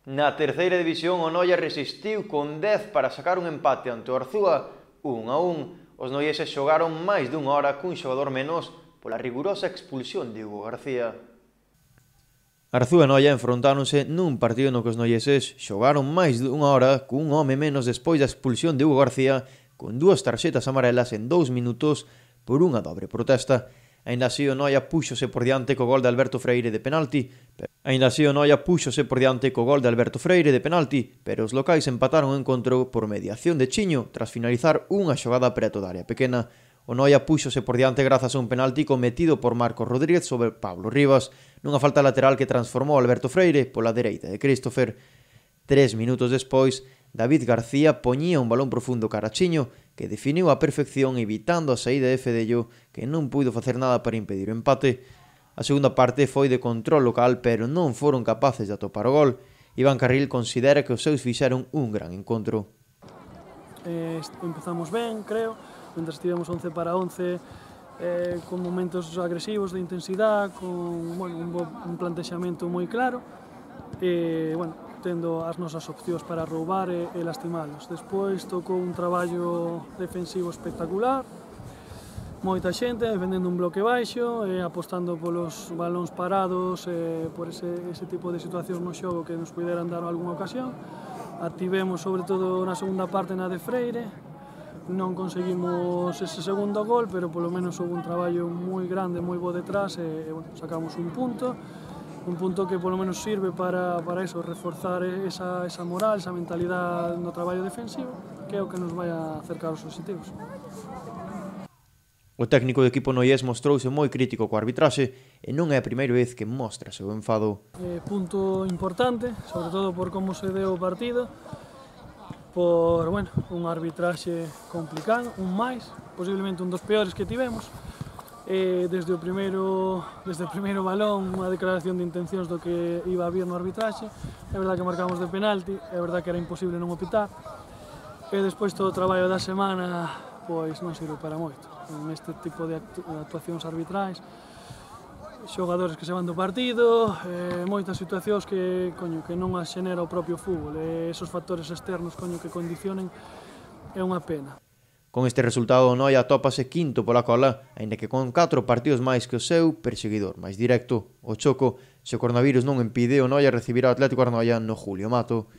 Na terceira división o Noia resistiu con 10 para sacar un empate ante o Arzúa 1-1. Os noieses xogaron máis dunha hora cun xogador menos pola rigurosa expulsión de Hugo García. Arzúa e Noia enfrontáronse nun partido no que os noieses xogaron máis dunha hora cun home menos despois da expulsión de Hugo García con 2 tarxetas amarelas en 2 minutos por unha dobre protesta. Aínda así o Noia púxose por diante co gol de Alberto Freire de penalti, pero os locais empataron o encontro por mediación de Chiño tras finalizar unha xogada preto da área pequena. O Noia púxose por diante grazas a un penalti cometido por Marcos Rodríguez sobre Pablo Rivas, nunha falta lateral que transformou Alberto Freire pola dereita de Christopher. 3 minutos despois, David García poñía un balón profundo cara a Chiño, que definiu a perfección evitando a saída de Fedello, que non puido facer nada para impedir o empate. A segunda parte foi de control local, pero non foron capaces de atopar o gol. Iván Carril considera que os seus fixeron un gran encontro. Empezamos ben, creo, mentre estivemos 11 para 11, con momentos agresivos de intensidade, con un plantexamento moi claro, e, tendo as nosas opcións para roubar e lastimalos. Despois tocou un traballo defensivo espectacular, moita xente defendendo un bloque baixo e apostando polos balóns parados e por ese tipo de situacións no xogo que nos puderan dar algunha ocasión. Activemos sobre todo na segunda parte na de Freire, non conseguimos ese segundo gol, pero polo menos houve un traballo moi grande, moi bo detrás e sacamos un punto que polo menos sirve para eso, reforzar esa moral, esa mentalidade no traballo defensivo, que é o que nos vai a acercar aos obxectivos. O técnico do equipo noiés mostrouse moi crítico coa arbitraxe e non é a primeira vez que mostra seu enfado. Punto importante, sobre todo por como se deu o partido, por un arbitraxe complicado, un máis, posiblemente un dos peores que tivemos. Desde o primeiro balón, unha declaración de intencións do que iba a vir no arbitraxe. É verdade que marcamos de penalti, é verdade que era imposible non opitar, e despois todo o traballo da semana pois non sirve para moito. Neste tipo de actuacións arbitrais, xogadores que se van do partido, moitas situacións que non as xenera o propio fútbol, e esos factores externos que condicionen é unha pena. Con este resultado o Noia atópase quinto pola cola, aínda que con 4 partidos máis que o seu perseguidor máis directo, o Choco, se o coronavirus non impide o Noia recibirá o Atlético Arnoia no Julio Mato.